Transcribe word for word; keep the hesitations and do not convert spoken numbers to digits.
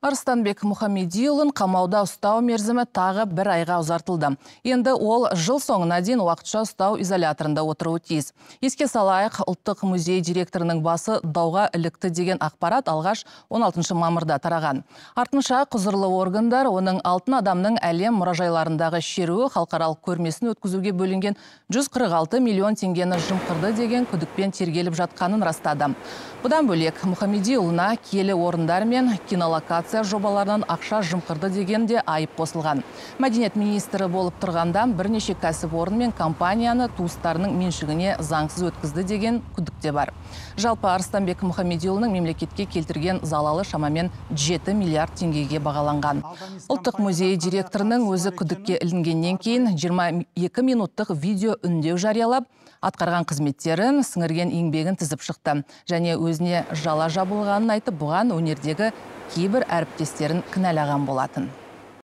Арыстанбек Мұхамедиұлын қамауда ұстау мерзімі тағы бір айға ұзартылды. Енді ол жыл соңына дейін уақытша ұстау изоляторында отыруы тиіс. Еске салайық, Ұлттық музей директорының басы дауға ілікті деген ақпарат алғаш он алтыншы мамырда тараған. Артынша құзырлы органдар оның алтын адамның әлем мұражайларындағы шеруі халықаралық көрмесін өткізуге бөлінген жүз қырық алты миллион теңгені жымқырды деген күдікпен тергеліп жатқанын растады. Бұдан бөлек Мұхамедиұлына киелі орындар мен кинолокация жобаларынан ақша жымқырды дегенде айып қосылған. Мәдениет министрі болып тұрғанда бірнеше кәсіпорын мен компанияны туыстарының меншігіне заңсыз өткізді деген күдік те бар. Жалпы Арыстанбек Мұхамедиұлының мемлекетке келтірген залалы шамамен жеті миллиард теңгеге бағаланған. Ұлттық музей директорының өзі күдікке ілінгеннен кейін жиырма екі минуттық видео үндеу жариялап, атқарған қызметтерін, сіңірген еңбегін тізіп шықты. Және өзіне жала жабылғанын айтып, бұған өнердегі кейбір әріптестерін кінәлаған болатын.